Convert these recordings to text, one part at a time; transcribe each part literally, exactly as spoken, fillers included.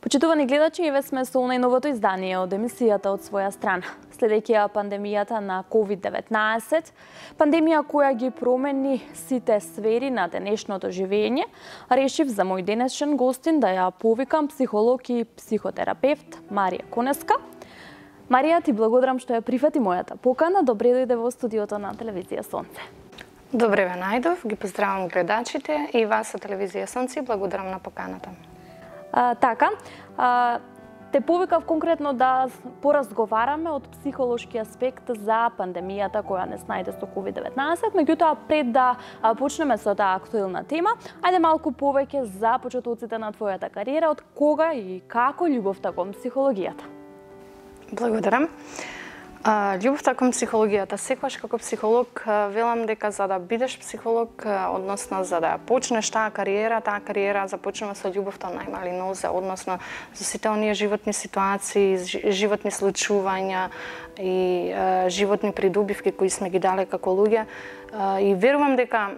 Почитувани гледачи, еве сме со најновото издание од емисијата од своја страна. Следејќи ја пандемијата на ковид деветнаесет, пандемија која ги промени сите сфери на денешното живење, решив за мој денешен гостин да ја повикам психолог и психотерапевт Марија Конеска. Марија, ти благодарам што ја прифати мојата покана. Добре дојде во студиото на телевизија Сонце. Добре ве најдов, ги поздравам гледачите и вас од телевизија Сонце, благодарам на поканата. А, така, а, те повикав конкретно да поразговараме од психолошки аспект за пандемијата која не снајде со ковид деветнаесет, меѓутоа пред да почнеме со таа актуелна тема, ајде малку повеќе за почетоците на твојата кариера, од кога и како љубовта кон психологијата. Благодарам. Љубовта кон психологијата, секогаш како психолог велам дека за да бидеш психолог, односно за да почнеш таа кариера, таа кариера започнува со љубовта на најмали нозе, односно со сите оние животни ситуации, животни случувања и животни придобивки кои сме ги дале како луѓе. И верувам дека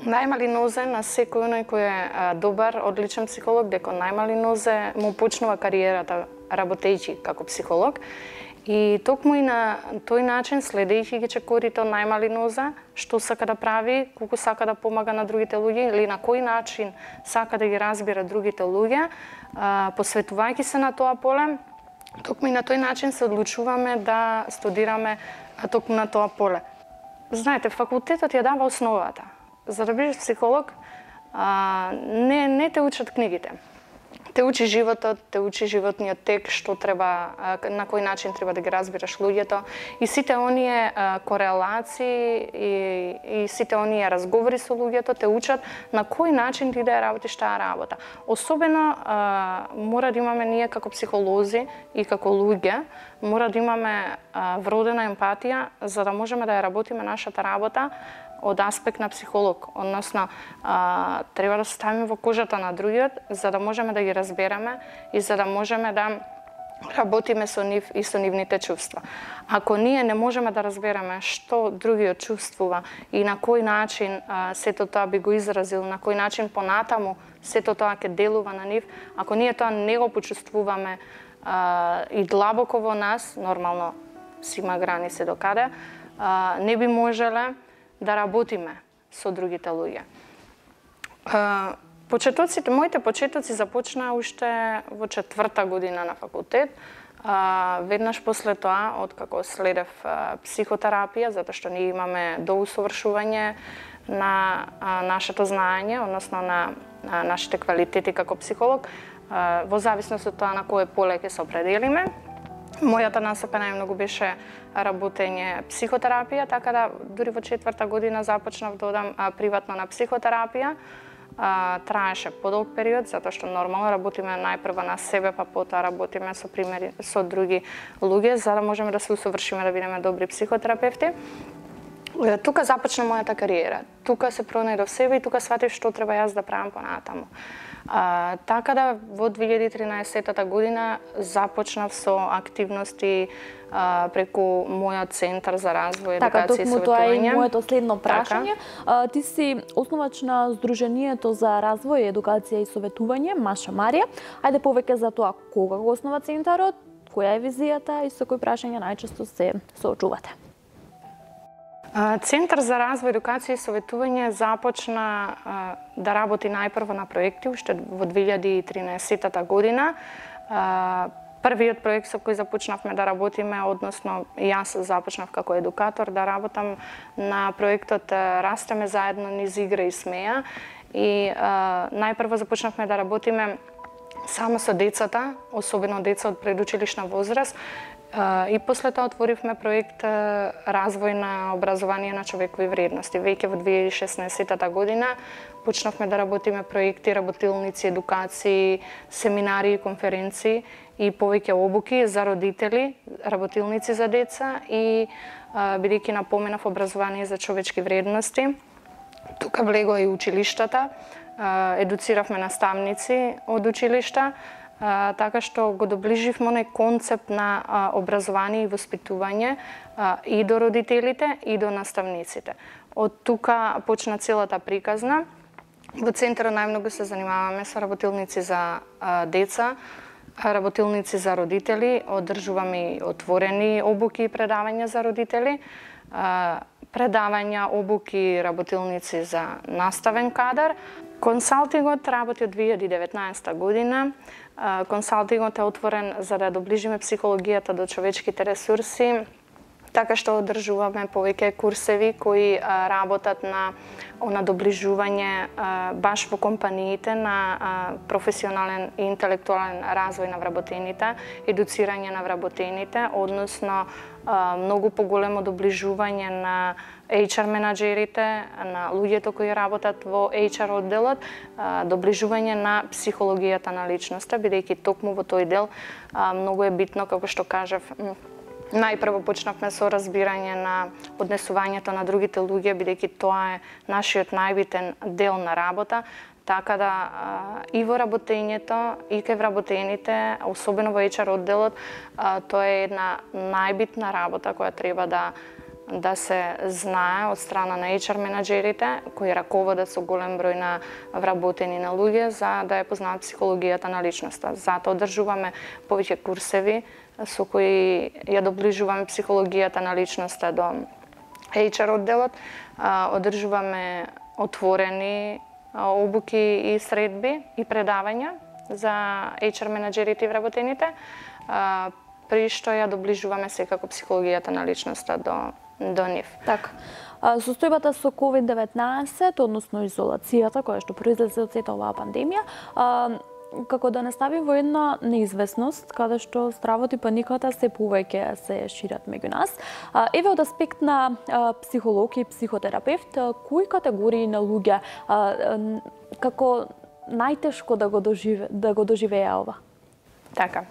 најмали нозе на секој оној кој е добар, одличен психолог, дека најмали нозе му почнува кариерата работејќи како психолог. И токму и на тој начин, следејќи ги чекорите од најмали ноза, што сака да прави, колку сака да помага на другите луѓе или на кој начин сака да ги разбира другите луѓе, посветувајќи се на тоа поле, токму и на тој начин се одлучуваме да студираме токму на тоа поле. Знаете, факултетот ја дава основата. За да бидеш психолог, не, не те учат книгите. Те учи животот, те учи животниот тек, што треба, на кој начин треба да ги разбираш луѓето и сите оние корелации и, и сите оние разговори со луѓето те учат на кој начин ти да ја работиш таа работа. Особено мора да имаме ние како психолози и како луѓе, мора да имаме вродена емпатија за да можеме да ја работиме нашата работа од аспект на психолог, односно а, треба да се ставиме во кожата на другиот за да можеме да ги разбереме и за да можеме да работиме со нив и со нивните чувства. Ако ние не можеме да разбереме што другиот чувствува и на кој начин а, сето тоа би го изразил, на кој начин понатаму сето тоа ќе делува на нив, ако ние тоа не го почувствуваме а, и длабоко во нас, нормално си има граници до каде, а, не би можеле да работиме со другите луѓе. Почетоците, моите почетоци започнаа уште во четврта година на факултет. Веднаш после тоа, откако следев психотерапија, затоа што ние имаме доусовршување на нашето знаење, односно на нашите квалитети како психолог, во зависност од тоа на кое поле ќе се определиме. Мојата насока најмногу беше работење психотерапија, така да дури во четврта година започнав да одам приватно на психотерапија. А, траеше подолг период, затоа што нормално работиме најпрво на себе, па потоа работиме со примери со други луѓе, за да можеме да се усовршиме да бидеме добри психотерапевти. Тука започна мојата кариера. Тука се пронајдов себе и тука сватив што треба јас да правам понатаму. А, така да во две илјади и тринаесета година започнав со активности а, преку мојот центар за развој, така, едукација и советување. Така, тоа е моето следно прашање. Така. Ти си основач на Сдруженијето за развој, едукација и советување, Маша Марија. Ајде повеќе за тоа кога го основа центарот, која е визијата и со кои прашања најчесто се соочувате. Центар за развој, едукација и советување започна а, да работи најпрво на проекти уште во две илјади и тринаесета година. А, првиот проект со кој започнавме да работиме, односно јас започнав како едукатор да работам на проектот Растеме заедно низ игра и смеја и а, најпрво започнавме да работиме само со децата, особено деца од предучилишна возраст. И после тоа отворивме проект Развој на образование на човекови вредности. Веќе во две илјади и шеснаесета година почнавме да работиме проекти, работилници, едукации, семинари и конференции и повеќе обуки за родители, работилници за деца и бидејќи напоменав образование за човечки вредности. Тука влегоа и училиштата, едуциравме наставници од училишта, Uh, така што го доближивме оној концепт на uh, образование и воспитување uh, и до родителите и до наставниците. Од тука почна целата приказна. Во центарот најмногу се занимаваме со работилници за uh, деца, работилници за родители, одржуваме и отворени обуки и предавања за родители, предавања, обуки, работилници за наставен кадар. Консалтингот работи од две илјади и деветнаесета година. Консалтингот е отворен за да доближиме психологијата до човечките ресурси, така што одржуваме повеќе курсеви кои а, работат на на доближување а, баш во компаниите на а, професионален и интелектуален развој на вработените, едуцирање на вработените, односно а, многу поголемо доближување на еич ар менаџерите, на луѓето кои работат во еич ар одделот, а, доближување на психологијата на личноста, бидејќи токму во тој дел а, многу е битно, како што кажав, најпрво почнавме со разбирање на однесувањето на другите луѓе, бидејќи тоа е нашиот најбитен дел на работа, така да и во работењето, и кај вработените, особено во еич ар одделот, тоа е една најбитна работа која треба да да се знае од страна на еич ар менаџерите, кои раководат со голем број на вработени на луѓе, за да ја познаат психологијата на личноста. Затоа одржуваме повеќе курсеви со кои ја доближуваме психологијата на личноста до еич ар одделот, одржуваме отворени обуки и средби и предавања за еич ар менаџерите и вработените, при што ја доближуваме секако психологијата на личноста до до нив. Така. Состојбата со ковид деветнаесет, односно изолацијата која што произлезе од сета оваа пандемија, како да не стави во една неизвестност, каде што стравот и паниката се повеќе се шират меѓу нас. Еве од аспект на психолог и психотерапевт, кои категории на луѓе како најтешко да го доживе, да го доживеа ова? Така.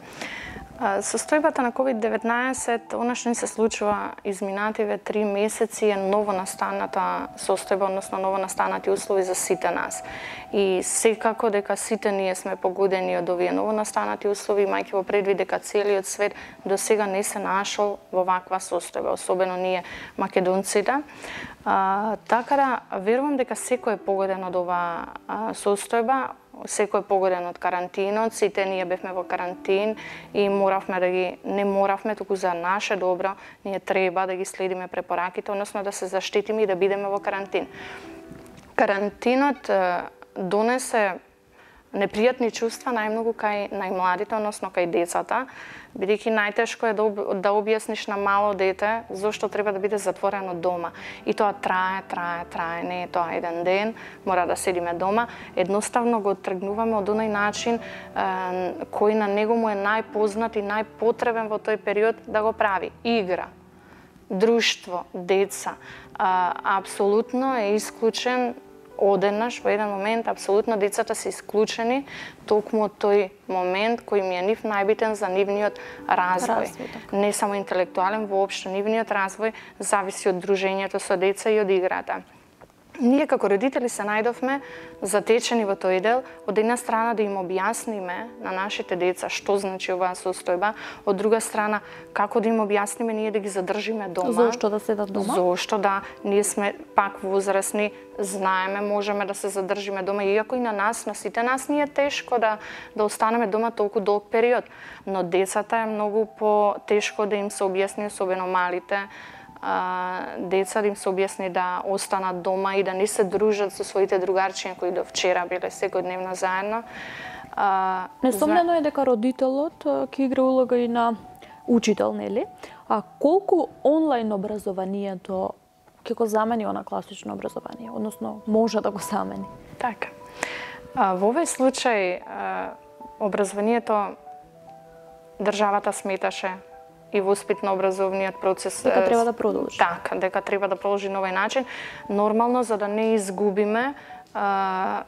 Состојбата на ковид деветнаесет, она што ни се случува изминативе три месеци е ново настаната состојба, односно ново настанати услови за сите нас. И секако дека сите ние сме погодени од овие ново настанати услови, имајќи во предвид дека целиот свет до сега не се нашол во ваква состојба, особено ние македонците. А, така да верувам дека секој е погоден од оваа состојба, секој е погоден од карантинот, сите ние бевме во карантин и моравме да ги, не моравме, туку за наше добро, ние треба да ги следиме препораките, односно да се заштитиме и да бидеме во карантин. Карантинот донесе непријатни чувства најмногу кај најмладите, односно кај децата, бидејќи најтешко е да, об, да објасниш на мало дете зошто треба да биде затворено дома. И тоа трае, трае, трае, не е тоа еден ден, мора да седиме дома. Едноставно го тргнуваме од оној начин е, кој на него му е најпознат и најпотребен во тој период да го прави. Игра, друштво, деца. А, апсолутно е исклучен одеднаш во еден момент, апсолутно децата се исклучени токму од тој момент кој ми е нив најбитен за нивниот развој. развој така. Не само интелектуален, воопшто нивниот развој зависи од дружењето со деца и од играта. Ние како родители се најдовме затечени во тој дел, од една страна да им објасниме на нашите деца што значи оваа состојба, од друга страна како да им објасниме ние да ги задржиме дома. Зошто да седат дома? Зошто да, ние сме пак возрастни, знаеме, можеме да се задржиме дома, иако и на нас, на сите нас ни е тешко да да останеме дома толку долг период, но децата е многу по-тешко да им се објасни, особено малите, деца да им се објасни да останат дома и да не се дружат со своите другарчиња кои до вчера биле секојдневно заедно. Несомнено е дека родителот ќе игра улога и на учител, нели? А колку онлайн образованието ќе го замени она класично образование, односно може да го замени? Така. Во овој случај образованието државата сметаше и воспитно-образовниот процес дека треба да продолжи. Така, дека треба да продолжи на овој начин. Нормално, за да не изгубиме, а,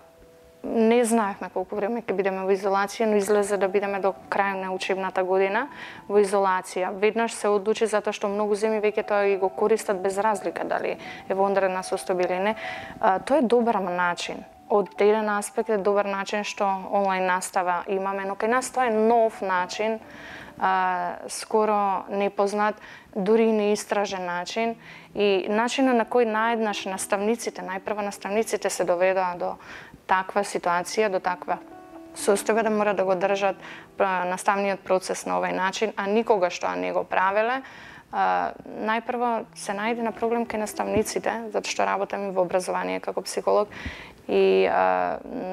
не знаевме колку време ќе бидеме во изолација, но излезе да бидеме до крај на учебната година во изолација. Веднаш се одлучи затоа што многу земји веќе тоа и го користат без разлика дали е во онредна состојба или не. А, тоа е добар начин. Од еден аспект е добар начин што онлайн настава имаме, но кај нас тоа е нов начин, а, скоро непознат, дури и неистражен начин, и начинот на кој наеднаш наставниците, најпрво наставниците се доведоа до таква ситуација, до таква состојба да мора да го држат наставниот процес на овој начин, а никогаш тоа не го правеле. Најпрво се најде на проблем кај наставниците, затоа што работам и во образование како психолог, и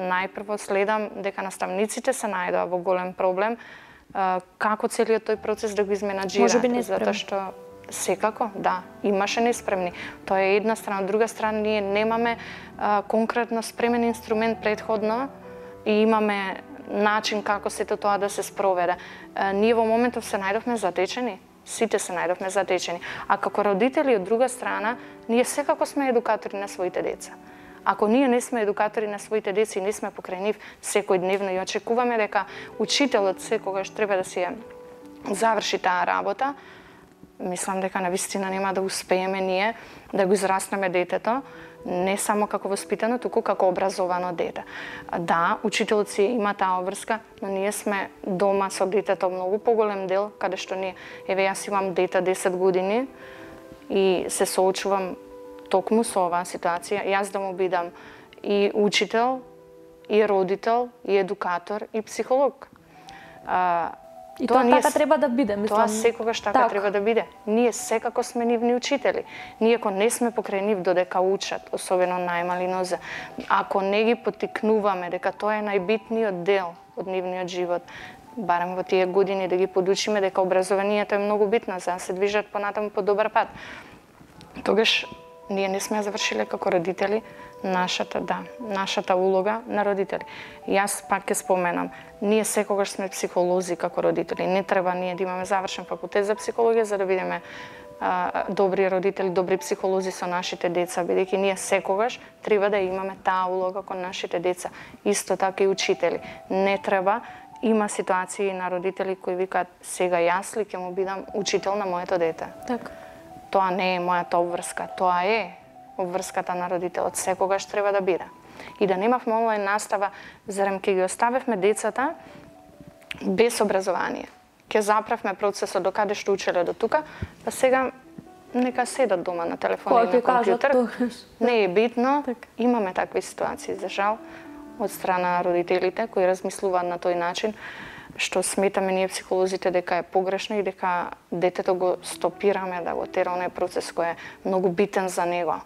најпрво следам дека наставниците се најдоа во голем проблем, како целиот тој процес да го изменаџираат, затоа што секако, да, имаше неспремни. Тоа е една страна, од друга страна ние немаме конкретно спремен инструмент предходно и имаме начин како сето тоа да се спроведе. Ние во моментов се најдовме затечени, сите се најдовме затечени. А како родители, од друга страна, ние секако сме едукатори на своите деца. Ако ние не сме едукатори на своите деца и не сме покрај нив секојдневно и очекуваме дека учителот секогаш треба да си заврши таа работа, мислам дека навистина нема да успееме ние да го израснеме детето, не само како воспитано, туку како образовано дете. Да, учителот си има таа обврска, но ние сме дома со детето многу поголем дел, каде што ние, еве јас имам дете десет години и се соочувам токму со оваа ситуација, јас да му бидам и учител, и родител, и едукатор, и психолог. И тоа, тоа така треба да биде, мислам. Тоа секогаш така, така треба да биде. Ние секако сме нивни учители. Ние ако не сме покрај нив додека учат, особено најмали нозе, ако не ги поттикнуваме дека тоа е најбитниот дел од нивниот живот, барем во тие години да ги подучиме дека образованието е многу битно за да се движат понатаму по добар пат, тогаш ние не сме завршиле како родители нашата, да, нашата улога на родители. Јас пак ќе споменам, ние секогаш сме психолози како родители. Не треба ние да имаме завршен факултет за психологија за да бидеме а, добри родители, добри психолози со нашите деца, бидејќи ние секогаш треба да имаме таа улога кон нашите деца. Исто така и учители. Не треба, има ситуации на родители кои викаат сега јас ли ќе му бидам учител на моето дете. Така. Тоа не е мојата обврска, тоа е обврската на родителот, секогаш треба да биде. И да немавме онлайн настава, зарем ќе ги оставевме децата без образование. Ќе заправме процесот до каде што учеле до тука, па сега нека седат дома на телефон и на компјутер. Не е битно, так. Имаме такви ситуации, за жал, од страна на родителите кои размислуваат на тој начин, што сметаме ние психолозите дека е погрешно и дека детето го стопираме да го тера оној процес кој е многу битен за него.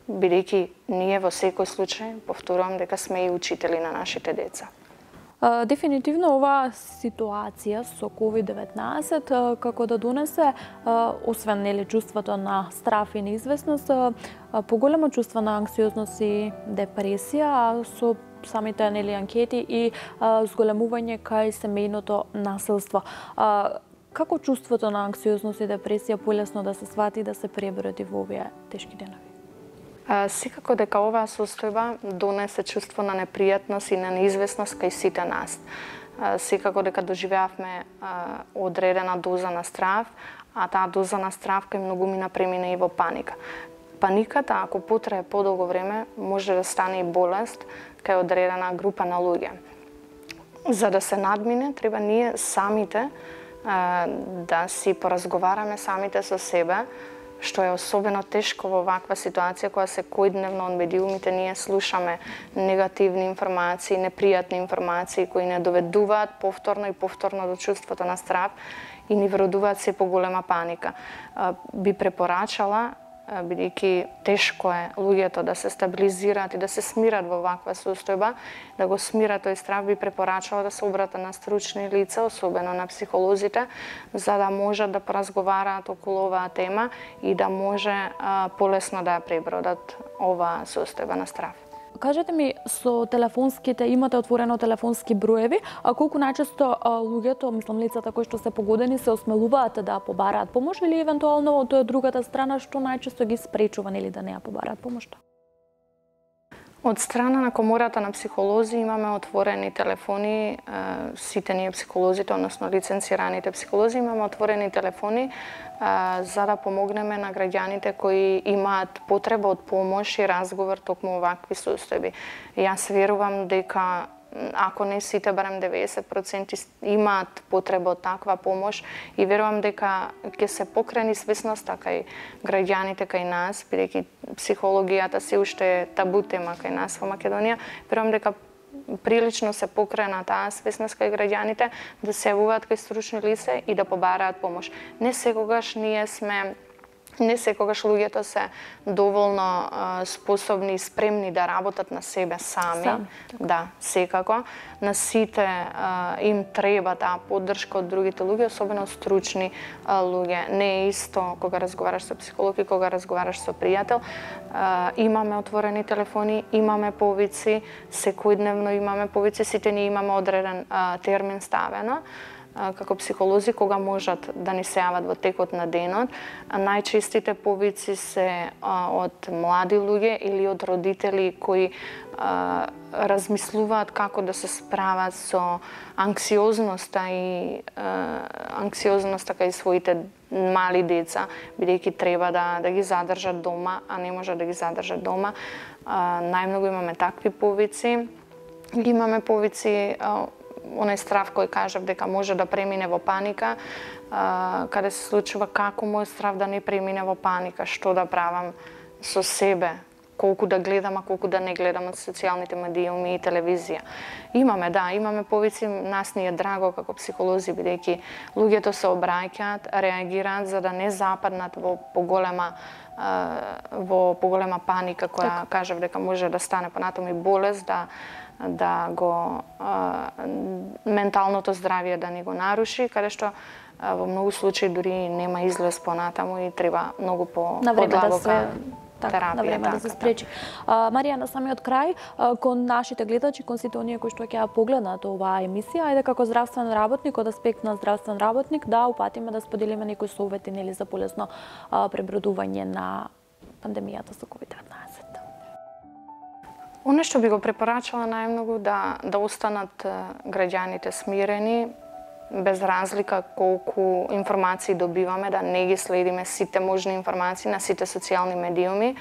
Бидејќи ние во секој случај, повторувам, дека сме и учители на нашите деца. Дефинитивно оваа ситуација со ковид деветнаесет како да донесе, освен нели чувството на страф и неизвестност, поголемо чувство на анксиозност и депресија, а со самите нели анкети и зголемување кај семејното насилство. Како чувството на анксиозност и депресија полесно да се свати и да се преброди во овие тешки денови? Секако дека оваа состојба донесе чувство на непријатност и на неизвестност кај сите нас. Секако дека доживеавме одредена доза на страв, а таа доза на страв кај многу мина премина и во паника. Паниката, ако потрае подолго време, може да стане и болест кај одредена група на луѓе. За да се надмине, треба ние самите да си поразговараме самите со себе, што е особено тешко во ваква ситуација која секојдневно од медиумите ние слушаме негативни информации, непријатни информации кои не доведуваат повторно и повторно до чувството на страв и ни вродуваат се поголема паника. Би препорачала, бидејќи тешко е луѓето да се стабилизираат и да се смират во ваква состојба, да го смират тој страв, би препорачала да се обрата на стручни лица, особено на психолозите, за да можат да поразговараат околу оваа тема и да може а, полесно да ја пребродат оваа состојба на страв. Кажете ми, со телефонските, имате отворено телефонски броеви, а колку најчесто луѓето, мислам лицата кои што се погодени, се осмелуваат да побараат помош или евентуално од другата страна што најчесто ги спречува или да не ја побараат помошта? Од страна на комората на психолози имаме отворени телефони, сите ние психолозите, односно лиценцираните психолози, имаме отворени телефони за да помогнеме на граѓаните кои имаат потреба од помош и разговор токму вакви состојби. Јас верувам дека ако не сите, барем деветдесет проценти имаат потреба од таква помош и верувам дека ќе се покрени свесноста кај граѓаните кај нас, бидејќи психологијата се уште е табу тема кај нас во Македонија, верувам дека прилично се покрена таа свесност кај граѓаните да се јавуваат кај стручни лица и да побараат помош. Не секогаш ние сме Не секогаш луѓето се доволно а, способни и спремни да работат на себе сами. Сам, да, секако. На сите а, им треба таа поддршка од другите луѓе, особено стручни а, луѓе. Не е исто кога разговараш со психолог и кога разговараш со пријател. А, имаме отворени телефони, имаме повици, секојдневно имаме повици, сите ние имаме одреден а, термин ставено како психолози кога можат да ни се јават во текот на денот. Најчестите повици се а, од млади луѓе или од родители кои а, размислуваат како да се справат со анксиозноста и а, анксиозноста кај своите мали деца, бидејќи треба да да ги задржат дома, а не може да ги задржат дома. А, најмногу имаме такви повици. Имаме повици а, оној страв кој кажав дека може да премине во паника, а, каде се случува како мој страв да не премине во паника, што да правам со себе, колку да гледам, а колку да не гледам од социјалните медиуми и телевизија. Имаме, да, имаме повици, нас ни е драго како психолози, бидејќи луѓето се обраќаат, реагираат за да не западнат во поголема во поголема паника која так. Кажав дека може да стане понатаму и болест, да да го а, менталното здравје да ни го наруши, каде што а, во многу случаи дури нема излез понатаму и треба многу по подлабока да терапија. На време да се спречи. А, Марија, на самиот крај, а, кон нашите гледачи, кон сите оние кои што ќе ја погледнат оваа емисија, ајде како здравствен работник, од аспект на здравствен работник, да упатиме да споделиме некои совети нели за полесно а, пребродување на пандемијата со ковид деветнаесет. Оно што би го препорачала најмногу да да останат граѓаните смирени, без разлика колку информации добиваме, да не ги следиме сите можни информации на сите социјални медиуми,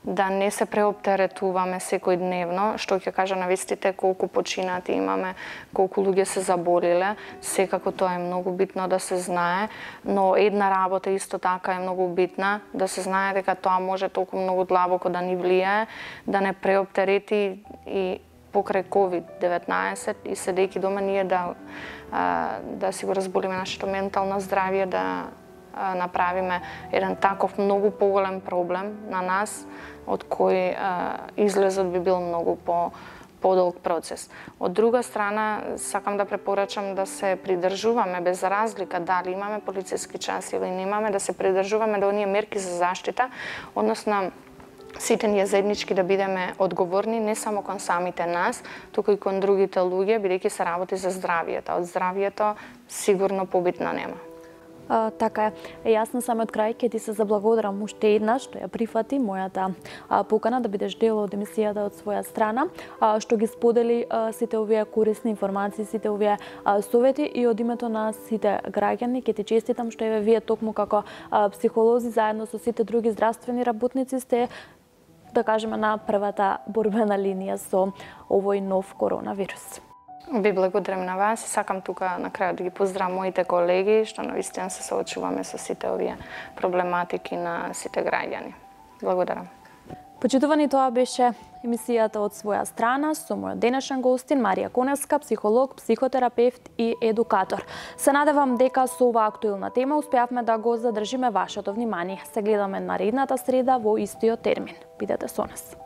да не се преоптеретуваме секојдневно, што ќе кажа на вестите колку починати имаме, колку луѓе се заболеле, секако тоа е многу битно да се знае, но една работа исто така е многу битна, да се знае дека тоа може толку многу длабоко да ни влијае, да не преоптерети и покрај ковид деветнаесет и седејќи дома ние да да си го разболиме нашето ментално здравје, да направиме еден таков многу поголем проблем на нас, од кој излезот би бил многу по подолг процес. Од друга страна, сакам да препорачам да се придржуваме без разлика дали имаме полициски час или немаме, да се придржуваме до оние мерки за заштита, односно сите ние заеднички да бидеме одговорни не само кон самите нас, туку и кон другите луѓе, бидејќи се работи за здравието. Од здравието сигурно побитно нема. А, така е. Јас на самиот крај ќе ти се заблагодарам уште еднаш што ја прифати мојата а, покана да бидеш дел од емисијата од своја страна, а, што ги сподели а, сите овие корисни информации, сите овие а, совети и од името на сите граѓани ќе ти честитам што еве вие токму како а, психолози заедно со сите други здравствени работници сте, да кажеме, на првата борбена линија со овој нов коронавирус. Ви благодарам на вас и сакам тука на крајот да ги поздравам моите колеги, што навистина се соочуваме со сите овие проблематики на сите граѓани. Благодарам. Почитувани, тоа беше емисијата од своја страна со мојот денешен гостин Марија Коневска, психолог, психотерапевт и едукатор. Се надевам дека со оваа актуелна тема успеавме да го задржиме вашето внимание. Се гледаме наредната среда во истиот термин. Бидете со нас.